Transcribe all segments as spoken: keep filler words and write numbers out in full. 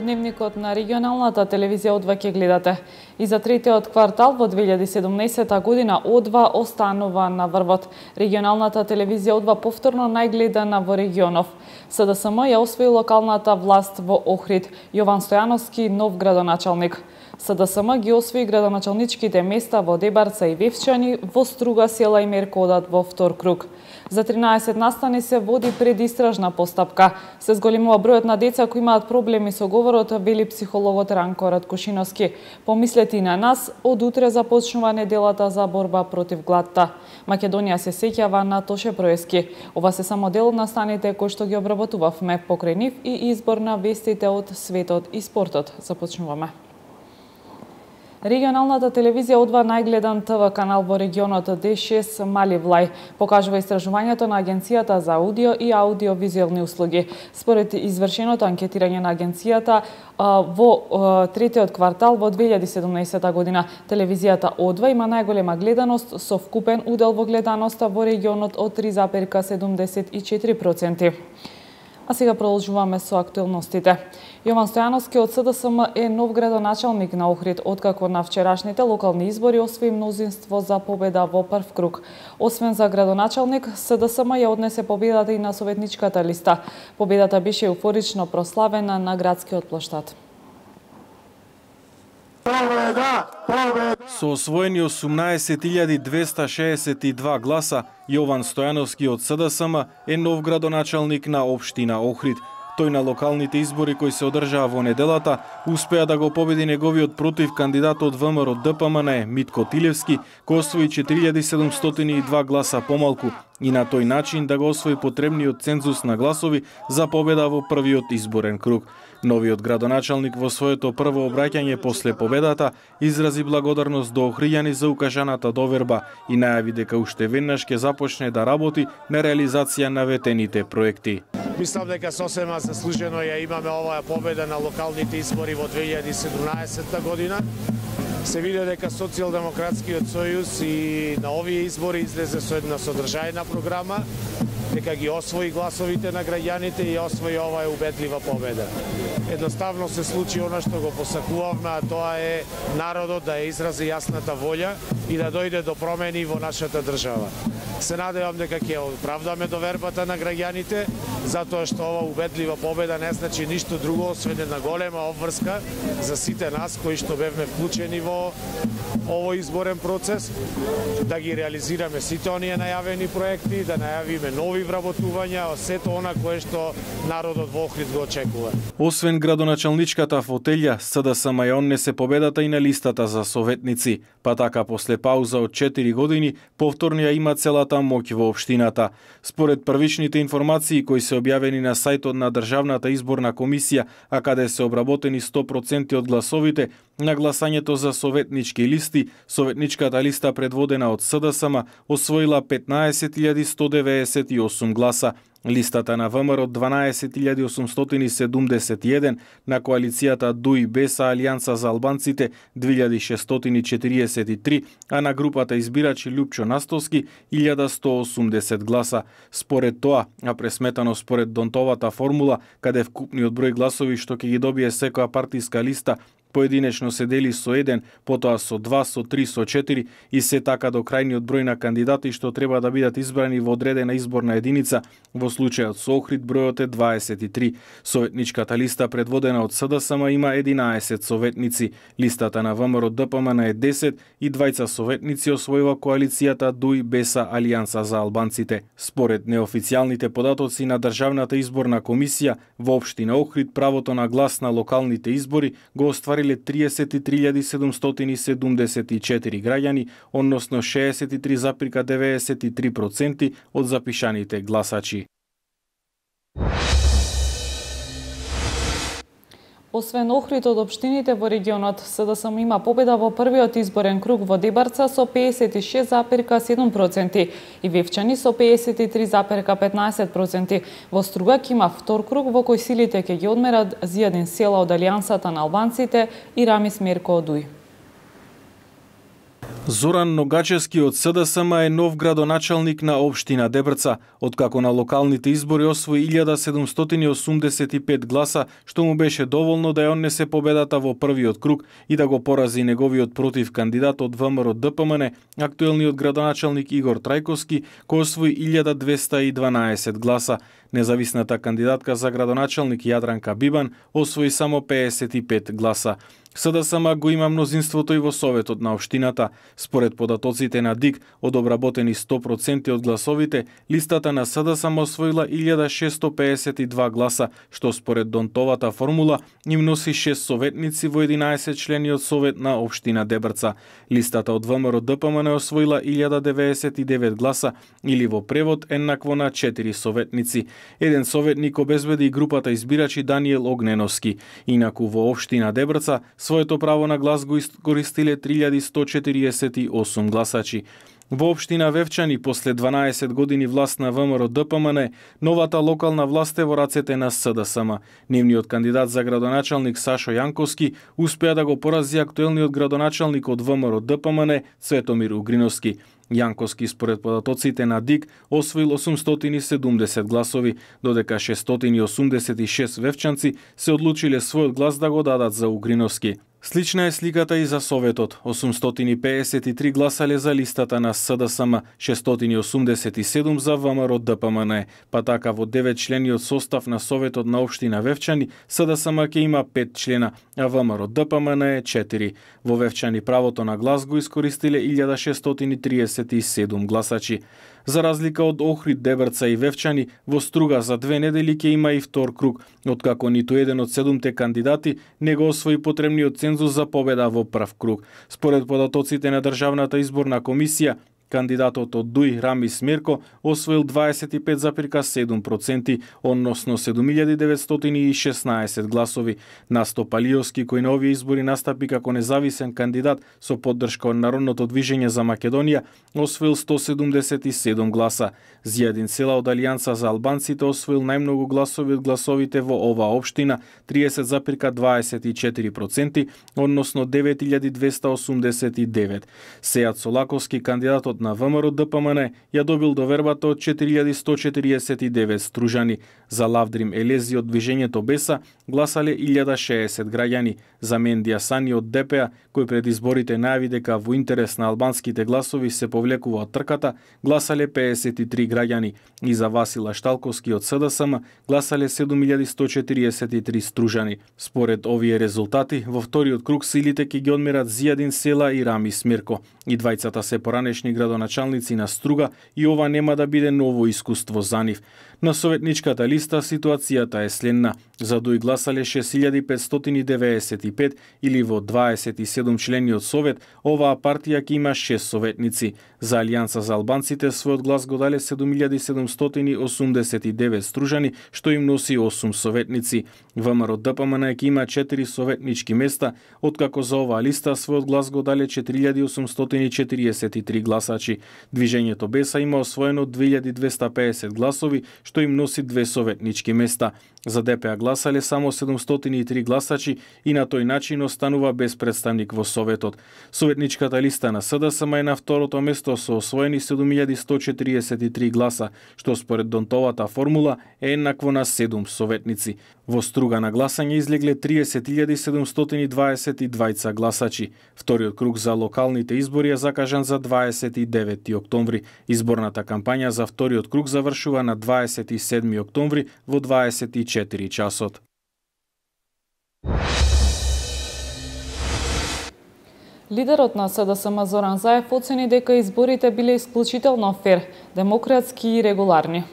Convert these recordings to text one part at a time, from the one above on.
дневникот на регионалната телевизија О два ќе гледате. И за третиот квартал во две илјади и седумнаесета година О два останува на врвот. Регионалната телевизија О два повторно најгледана во регионов. СДСМ ја освои локалната власт во Охрид. Јован Стојановски нов градоначалник. СДСМ ги освои градоначалничките места во Дебарца и Вевчани, во Струга, Села и Меркодат во втор круг. За тринаесет настани се води предистражна постапка. Се зголемува бројот на деца кои имаат проблеми со говорот, вели психологот Ранко Раткошиновски. Помислете и на нас, од утре започнува неделата за борба против гладта. Македонија се сеќава на Тоше Проески. Ова се само дел од настаните кои што ги обработувавме покрај нив и избор на вестите од светот и спортот. Започнуваме. Регионалната телевизија О два најгледан ТВ канал во регионот Д шест Мали Влај, покажува истражувањето на Агенцијата за аудио и аудиовизуелни услуги. Според извршеното анкетирање на агенцијата во третиот квартал во две илјади и седумнаесета година, телевизијата О два има најголема гледаност со вкупен удел во гледаноста во регионот од три запирка седумдесет и четири проценти. А сега продолжуваме со актуелностите. Јован Стојановски од СДСМ е нов градоначалник на Охрид, откако на вчерашните локални избори освои мнозинство за победа во прв круг. Освен за градоначалник, СДСМ ја однесе победата и на советничката листа. Победата беше еуфорично прославена на градскиот плоштад. Победа! Победа! Со освоени осумнаесет илјади двесте шеесет и два гласа, Јован Стојановски од СДСМ е нов градоначалник на општина Охрид. Тој на локалните избори кои се одржаа во неделата успеа да го победи неговиот против кандидат од ВМРО Д П М Н Митко Тилевски, кој освои четири илјади седумстотини и два гласа помалку и на тој начин да го освои потребниот цензус на гласови за победа во првиот изборен круг. Новиот градоначалник во своето прво обраќање после победата изрази благодарност до охријани за укажаната доверба и најави дека уште веднаш ќе започне да работи на реализација на ветените проекти. Мислам дека сосема заслужено ја имаме оваа победа на локалните избори во две илјади и седумнаесета година. Се види дека Социјалдемократскиот сојуз и на овие избори излезе со една содржајна програма, дека ги освои гласовите на граѓаните и освои оваа убедлива победа. Едноставно се случи она што го посакувавме, а тоа е народот да ја изрази јасната волја и да дојде до промени во нашата држава. Се надевам дека ќе оправдаме довербата на граѓаните, затоа што ова убедлива победа не значи ништо друго освен една голема обврска за сите нас кои што бевме вклучени во овој изборен процес, да ги реализираме сите оние најавени проекти, да најавиме нови вработувања, сето она кое што народот во Охрид го очекува. Освен градоначалничката фотелја, СДСМ ја однесе победата и на листата за советници, па така после пауза од четири години повторно ја има целата моќ во општината. Според првичните информации кои се објавени на сајтот на Државната изборна комисија, а каде се обработени сто проценти од гласовите, на гласањето за советнички листи, советничката листа предводена од СДСМ освоила петнаесет илјади сто деветдесет и осум гласа. Листата на ВМРО дванаесет илјади осумстотини седумдесет и еден, на коалицијата Д У И Беса Алијанса за албанците две илјади шестстотини четириесет и три, а на групата избирачи Лјупчо Настовски илјада сто осумдесет гласа. Според тоа, а пресметано според Донтовата формула, каде вкупниот број гласови што ќе ги добие секоја партиска листа поединечно се дели со еден, потоа со два, со три, со четири и се така до крајниот број на кандидати што треба да бидат избрани во одредена изборна единица. Во случајот со Охрид бројот е дваесет и три. Советничката листа предводена од СДСМ има единаесет советници. Листата на ВМРО Д П М Н е десет и двајца советници освојува коалицијата Д У И Беса Алијанса за албанците. Според неофицијалните податоци на Државната изборна комисија, во општина Охрид правото на глас на локалните избори го оствариле триесет и три илјади седумстотини седумдесет и четири граѓани, односно шеесет и три запирка деветдесет и три проценти од запишаните гласачи. Освен Охрид од општините во регионот, СДСМ има победа во првиот изборен круг во Дебарца со пеесет и шест запирка седум проценти и Вевчани со пеесет и три запирка петнаесет проценти. Во Стругак има втор круг во кој силите ќе ги одмерат Зијадин Села од Алијансата на албанците и Рамис Мерко од У И. Зоран Ногачевски од СДСМ е нов градоначалник на општина Дебрца, откако на локалните избори освои илјада седумстотини и осумдесет и пет гласа, што му беше доволно да ја однесе победата во првиот круг и да го порази неговиот против кандидат од ВМРО Д П М Н, актуелниот градоначалник Игор Трајковски, кој освои илјада двеста и дванаесет гласа. Независната кандидатка за градоначалник Јадранка Бибан освои само пеесет и пет гласа. СДСМ го има мнозинството и во Советот на општината. Според податоците на ДИК, од обработени сто проценти од гласовите, листата на СДСМ освоила илјада шестоста пеесет и два гласа, што според Донтовата формула им носи шест советници во единаесет члениот Совет на општина Дебрца. Листата од ВМРО Д П М Н освоила илјада деветдесет и девет гласа, или во превод еднакво на четири советници. Еден советник обезбеди и групата избирачи Даниел Огненовски. Инаку во општина Дебрца своето право на глас го искористиле три илјади сто четириесет и осум гласачи. Во општина Вевчани, после дванаесет години власт на ВМРО Д П М Н, новата локална власт е во рацете на СДСМ. Нивниот кандидат за градоначалник Сашо Јанковски успеа да го порази актуелниот градоначалник од ВМРО Д П М Н Цветомир Угриновски. Јанковски според податоците на ДИК освоил осумстотини и седумдесет гласови, додека шестстотини и осумдесет и шест вевчанци се одлучиле својот глас да го дадат за Угриновски. Слична е сликата и за Советот. осумстотини пеесет и три гласале за листата на СДСМ, шестстотини и осумдесет и седум за ВМРО Д П М Н. Па така во девет члениот состав на Советот на општина Вевчани, СДСМ ќе има пет члена, а ВМРО Д П М Н е четири. Во Вевчани правото на глас го искористиле илјада шестстотини триесет и седум гласачи. За разлика од Охрид, Дебрца и Вевчани, во Струга за две недели ќе има и втор круг, откако ниту еден од седумте кандидати не го освои потребниот цензус за победа во прв круг. Според податоците на Државната изборна комисија, кандидатот од Дуј Рами Смерко освоил дваесет и пет запирка седум проценти, односно седум илјади деветстотини и шеснаесет гласови. Насто Палиовски, кој на овие избори настапи како независен кандидат со поддршка од Народното движење за Македонија, освоил сто седумдесет и седум гласа. Зијадин Села од Алијанса за албанците освоил најмногу гласови од гласовите во оваа општина, триесет запирка дваесет и четири проценти, односно девет илјади двеста осумдесет и девет. Сејат Солаковски, кандидатот на ВМРО Д П М Н, ја добил довербата од четири илјади сто четириесет и девет стружани. За Лавдрим Елези од движењето Беса гласале илјада шеесет граѓани. За Мендија Сани од Д П А, кој пред изборите најави дека во интерес на албанските гласови се повлекува од трката, гласале пеесет и три граѓани. И за Васила Шталковски од СДСМ гласале седум илјади сто четириесет и три стружани. Според овие резултати, во вториот круг силите ќе ги одмерат Зијадин Села и Рами Смирко. И двајцата се поранешни градоначалници на Струга и ова нема да биде ново искуство за нив. На советничката листа ситуацијата е следна. За Дуј гласале шест илјади петстотини деветдесет и пет или во дваесет и седум члениот совет, оваа партија ќе има шест советници. За Алијанса за албанците својот глас го дале седум илјади седумстотини осумдесет и девет стружани, што им носи осум советници. ВМРО Д П М Н ќе има четири советнички места, откако за оваа листа својот глас го дале четири илјади осумстотини четириесет и три гласачи. Движењето Беса има освоено две илјади двеста пеесет гласови, што им носи две советнички места. За Д П А гласале само седумстотини и три гласачи и на тој начин останува без представник во Советот. Советничката листа на СДСМ е на второто место со освоени седум илјади сто четириесет и три гласа, што според Донтовата формула е еднакво на седум советници. Во Струга на гласање излегле триесет илјади седумстотини дваесет и двајца гласачи. Вториот круг за локалните избори е закажан за дваесет и девети октомври. Изборната кампања за вториот круг завршува на дваесет и седми октомври во дваесет и четири часот. Лидерот на СДСМ Зоран Заев оцени дека изборите биле исклучително фер, демократски и регуларни.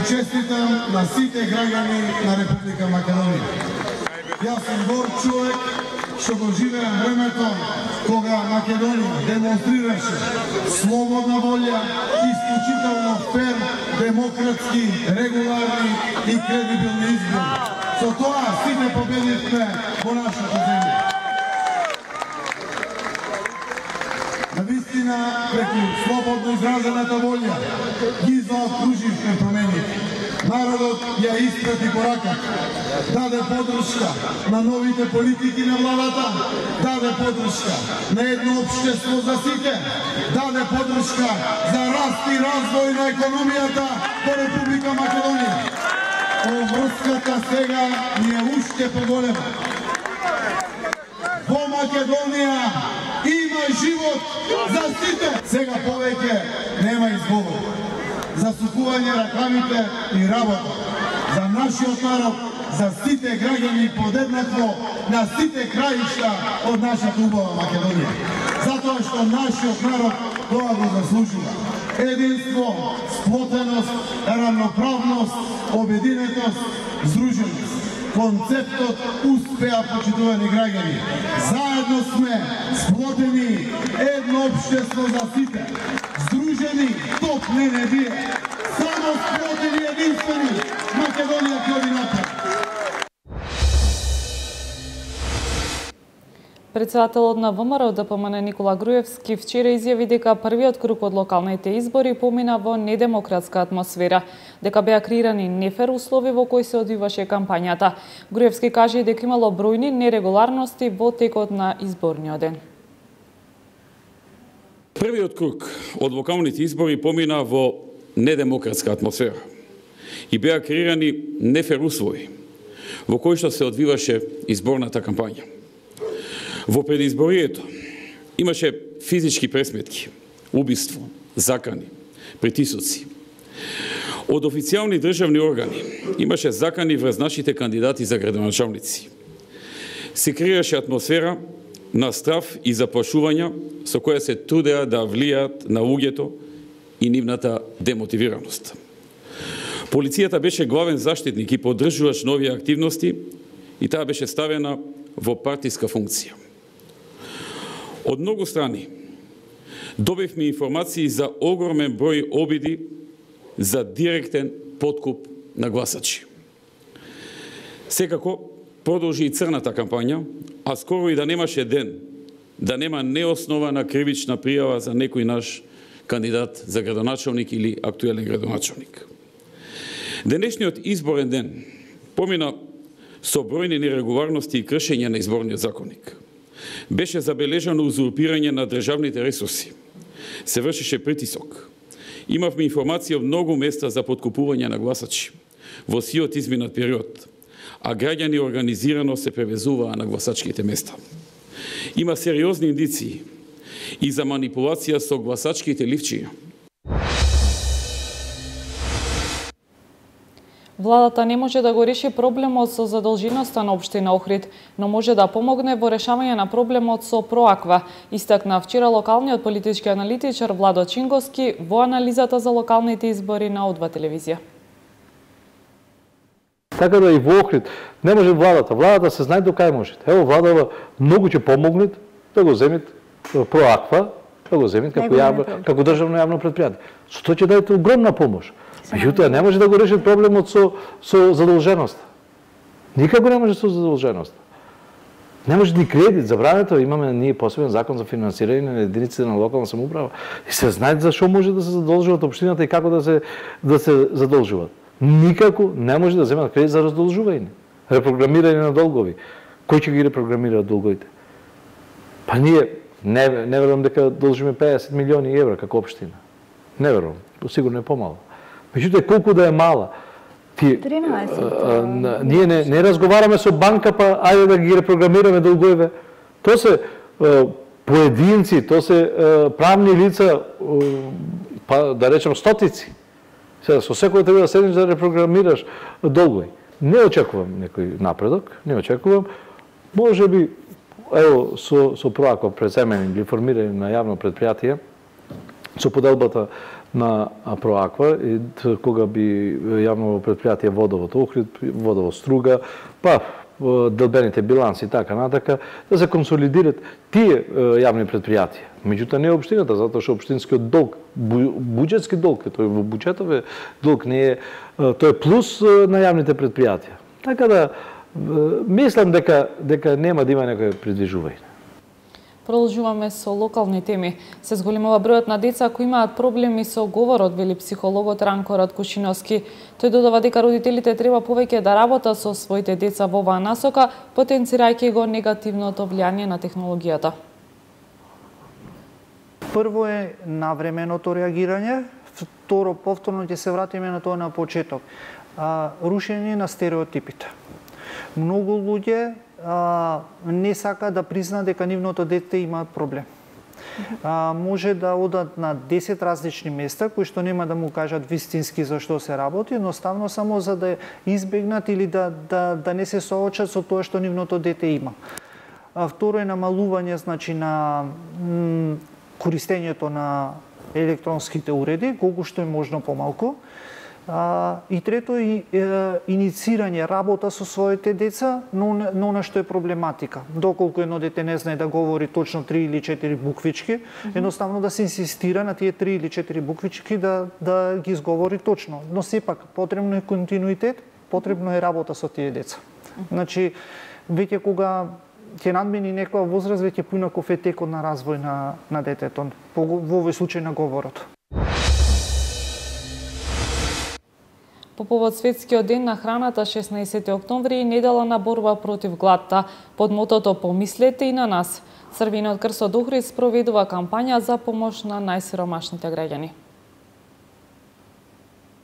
Честитам на сите граѓани на Република Македонија. Јас сум гор човек што го живеам времето кога Македонија демонстрираше слободна волја, исклучително фер, демократски, регуларни и кредибилни избори. Со тоа сите победивме во нашата земја. Навистина, преку слободно изразената волја, ги заокруживме промените. Народот ја испрати пораката, даде подршка на новите политики на владата, даде подршка на едно општество за сите, даде подршка за раст и развој на економијата во Република Македонија. Врската сега ни е уште поголема. Во Македонија има живот за сите. Сега повеќе нема изговор. За сукување ракавите и работа. За нашиот народ, за сите граѓани подеднакво на сите краишта од нашата убава Македонија. Затоа што нашиот народ тоа го заслужува. Единство, сплотеност, равноправност, обединетост, здруженост. Концептот успеа, почитувани граѓани. Заедно сме сплотени, едно општество за сите. Здружени, топ не не бие. Само сплотени, единствени, Македонија ќе оди напред. Председателот на ВМРО Д П М Н Никола Груевски вчера изјави дека првиот круг од локалните избори помина во недемократска атмосфера, дека беа креирани нефер услови во кои се одвиваше кампањата. Груевски кажа и дека имало бројни нерегуларности во текот на изборниот ден. Првиот круг од локалните избори помина во недемократска атмосфера и беа креирани нефер услови во кои што се одвиваше изборната кампања. Во предизборието имаше физички пресметки, убиство, закани, притисоци. Од официјални државни органи имаше закани врз нашите кандидати за градоначалници. Се креираше атмосфера на страв и заплашувања со која се трудеа да влијаат на луѓето и нивната демотивираност. Полицијата беше главен заштитник и поддржувач на овие активности и таа беше ставена во партиска функција. Од многу страни добивме информации за огромен број обиди за директен подкуп на гласачи. Секако продолжи и црната кампања, а скоро и да немаше ден да нема неоснована кривична пријава за некој наш кандидат за градоначалник или актуелен градоначалник. Денешниот изборен ден помина со бројни нерегуларности и кршење на изборниот законник. Беше забележано узурпирање на државните ресурси. Се вршеше притисок. Имавме информација од многу места за подкупување на гласачи во сиот изминат период, а граѓани организирано се превезуваа на гласачките места. Има сериозни индиции и за манипулација со гласачките ливчиња. Владата не може да го реши проблемот со задолженоста на општина Охрид, но може да помогне во решавање на проблемот со Проаква, истакна вчера локалниот политички аналитичар Владо Чинговски во анализата за локалните избори на О два телевизија. Така да и во Охрид не може владата. Владата се знае до кај може. Ево, владава многу ќе помогне да го земет Проаква, да го земет како, јавно, како државно јавно предпријатие. Со тоа ќе дадете огромна помош. Меѓутоа, не може да го реши проблемот со, со задолженост. Никако не може со задолженост. Не може ни кредит, забрането, имаме ние посебен закон за финансирање на единиците на локална самоуправа. И се знае за што може да се задолжуваат општината и како да се, да се задолжуваат. Никако не може да земат кредит за раздолжување. Репрограмирање на долгови. Кој ќе ги репрограмира долговите? Па ние не, не верувам дека должиме педесет милиони евра како општина. Не верувам, сигурно е помало. Меѓутоа, колку да е мала, ти, тринаесет. А, а, ние не, не разговараме со банка, па ајде да ги репрограмираме долговите. То се а, поединци, то се а, правни лица, а, па да речем стотици. Сега, со секој треба да седнеш да репрограмираш долгови. Не очекувам некој напредок, не очекувам. Може би, ево, со, со Проаква преземени или формирање на јавно предпријатие, со поделбата на Проаква, и кога би јавно предпријатие Водовод Охрид, Водовод Струга, па делбените биланси и така натака, да се консолидират тие јавни предпријатија. Меѓутоа не општината, затоа што општинскиот долг, буџетски долг, тој во буџетове долг не е, тој е плюс на јавните предпријатија. Така да мислам дека дека нема да има некој придвижување. Продолжуваме со локални теми. Се зголемува бројот на деца кои имаат проблеми со говорот, вели психологот Ранко Радкушиновски. Тој додава дека родителите треба повеќе да работат со своите деца во оваа насока, потенцирајќи го негативното влијание на технологијата. Прво е навременото реагирање, второ повторно ќе се вратиме на тоа на почеток. А, рушење на стереотипите. Многу луѓе а, не сака да призна дека нивното дете имаат проблем. А, може да одат на десет различни места кои што нема да му кажат вистински за што се работи, едноставно само за да избегнат или да, да, да не се соочат со тоа што нивното дете има. А, второ е намалување, значи, на м, користењето на електронските уреди, колку што е можно помалку. А, и трето е, е иницирање работа со своите деца, но, но на што е проблематика. Доколку едно дете не знае да говори точно три или четири буквички, mm -hmm. едноставно да се инсистира на тие три или четири буквички да, да ги изговори точно. Но сепак потребно е континуитет, потребно е работа со тие деца. Mm -hmm. Значи, веќе кога ќе надмени некоја возраст, веќе поинаков е текот на развој на, на детето, во овој случај на говорот. По повод Светскиот ден на храната шеснаесети октомври и недела на борба против гладта, под мотото "Помислете и на нас", Црвениот крст од Охрид спроведува кампања за помош на најсиромашните граѓани.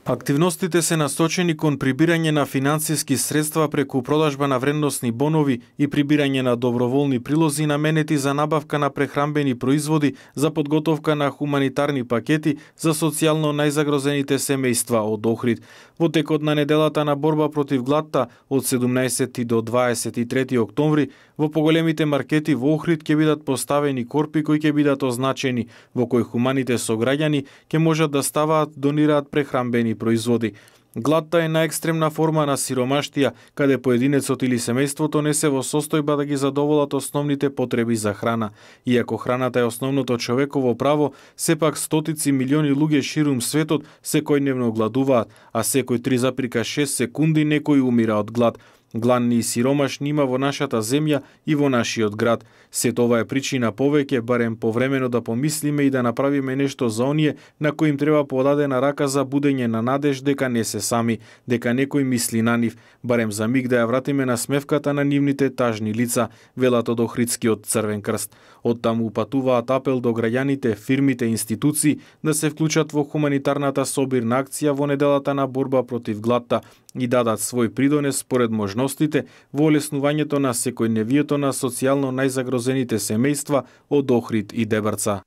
Активностите се насочени кон прибирање на финансиски средства преку продажба на вредносни бонови и прибирање на доброволни прилози наменети за набавка на прехранбени производи за подготовка на хуманитарни пакети за социјално најзагрозените семејства од Охрид. Во текот на неделата на борба против гладта од седумнаесети до дваесет и трети октомври во поголемите маркети во Охрид ќе бидат поставени корпи кои ќе бидат означени, во кои хуманите сограѓани ќе можат да ставаат, донираат прехранбени производи. Гладта е најекстремна форма на сиромаштија, каде поединецот или семејството не се во состојба да ги задоволат основните потреби за храна. Иако храната е основното човеково право, сепак стотици милиони луѓе ширум светот секојдневно гладуваат, а секој три запирка шест секунди некој умира од глад. Гладни и сиромашни има во нашата земја и во нашиот град. Сето ова е причина повеќе, барем повремено да помислиме и да направиме нешто за оние на кои им треба подадена рака за будење на надеж дека не се сами, дека некој мисли на нив, барем за миг да ја вратиме на смевката на нивните тажни лица, велат од Охридскиот Црвен крст. Оттаму упатуваат апел до граѓаните, фирмите и институции да се вклучат во хуманитарната собирна акција во неделата на борба против гладта и дадат свој придонес според можностите во олеснувањето на секојдневието на социјално најзагрозените семејства од Охрид и Дебрца.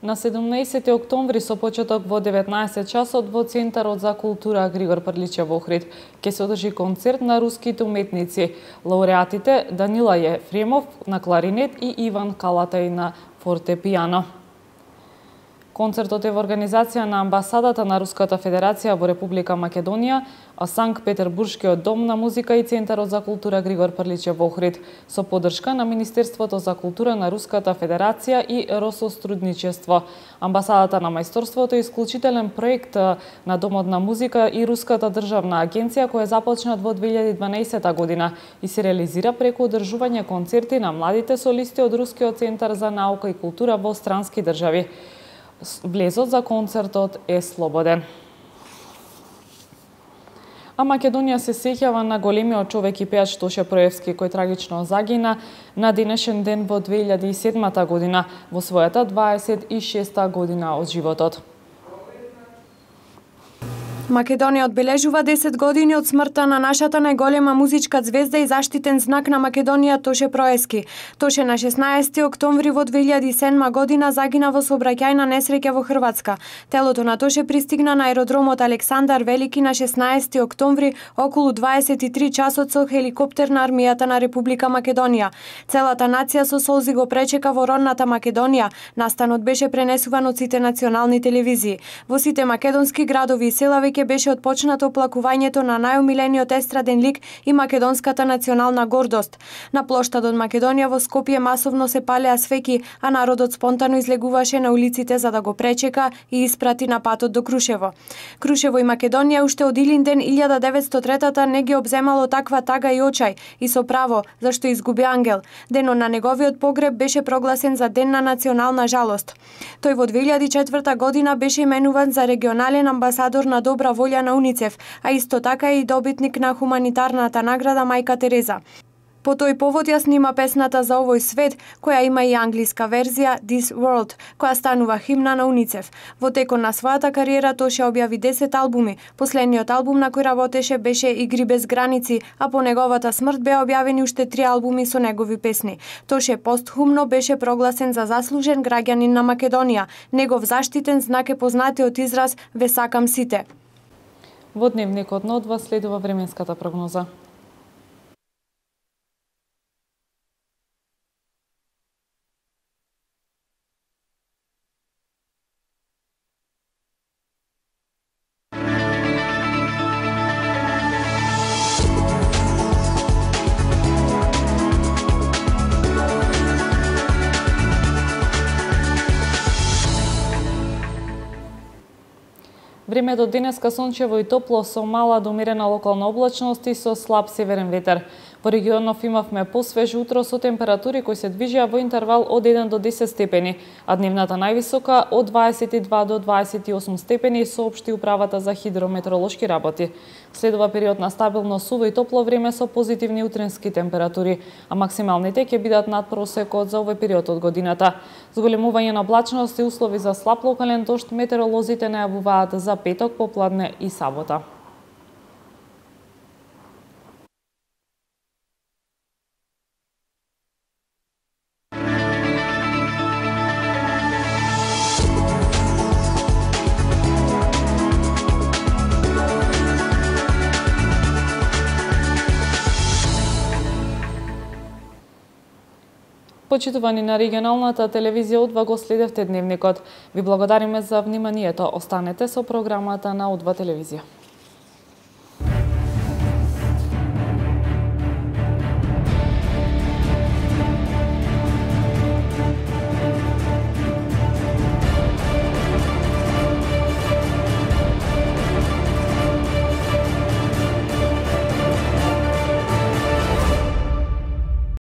На седумнаесети октомври со почеток во деветнаесет часот во Центарот за култура Григор Прличев во Охрид ќе се одржи концерт на руските уметници, лауреатите Данила Ефремов на кларинет и Иван Калатај на фортепијано. Концертот е во организација на Амбасадата на Руската Федерација во Република Македонија, а Санкт-Петербуршкиот дом на музика и Центарот за култура Григор Прличев во Охрид, со поддршка на Министерството за култура на Руската Федерација и Росострудничество. Амбасадата на мајсторството е исклучителен проект на Домот на музика и Руската државна агенција која започнат во две илјади и дванаесета година и се реализира преку одржување концерти на младите солисти од Рускиот центар за наука и култура во странски држави. Влезот за концертот е слободен. А Македонија се сеќава на големиот човек и пеач Тоше Проевски, кој трагично загина на денешен ден во две илјади и седмата година, во својата дваесет и шеста година од животот. Македонија одбележува десет години од смртта на нашата најголема музичка звезда и заштитен знак на Македонија Тоше Проевски. Тоше на шеснаесети октомври во две илјади и седма година загина во сообраќајна несреќа во Хрватска. Телото на Тоше пристигна на аеродромот Александар Велики на шеснаесети октомври околу дваесет и три часот со хеликоптер на армијата на Република Македонија. Целата нација со солзи го пречека во родната Македонија. Настанот беше пренесуван од сите национални телевизии. Во сите македонски градови и села веќе беше отпочнато оплакувањето на најомилениот естраден лик и македонската национална гордост. На плоштадот Македонија во Скопје масовно се палеа свеќи, а народот спонтано излегуваше на улиците за да го пречека и испрати на патот до Крушево. Крушево и Македонија уште од Илинден илјада деветстотини и третата не ги обземало таква тага и очај, и со право, зашто изгуби ангел. Денот на неговиот погреб беше прогласен за ден на национална жалост. Тој во две илјади и четврта година беше именуван за регионален амбасадор на добра волја на УНИЦЕФ, а исто така и добитник на хуманитарната награда Мајка Тереза. По тој повод ја снима песната за овој свет, која има и англиска верзија This World, која станува химна на УНИЦЕФ. Во текот на својата кариера Тоше објави десет албуми. Последниот албум на кој работеше беше Игри без граници, а по неговата смрт беа објавени уште три албуми со негови песни. Тоше постхумно беше прогласен за заслужен граѓанин на Македонија. Негов заштитен знак е познатиот израз "Ве сакам сите". Во дневникот на одва следува временската прогноза. Времето денеска сончево и топло со мала до умерена локална облачност и со слаб северен ветер. Во регионов имавме посвеж утро со температури кои се движеа во интервал од еден до десет степени, а дневната највисока од дваесет и два до дваесет и осум степени, соопшти управата за хидрометеоролошки работи. Следува период на стабилно суво и топло време со позитивни утренски температури, а максималните ќе бидат над просекот за овој период од годината. Зголемување на облачност и услови за слаб локален дожд метеоролозите најавуваат за петок, попладне и сабота. Почитувани на регионалната телевизија Одва, го следевте дневникот. Ви благодариме за вниманието. Останете со програмата на Одва телевизија.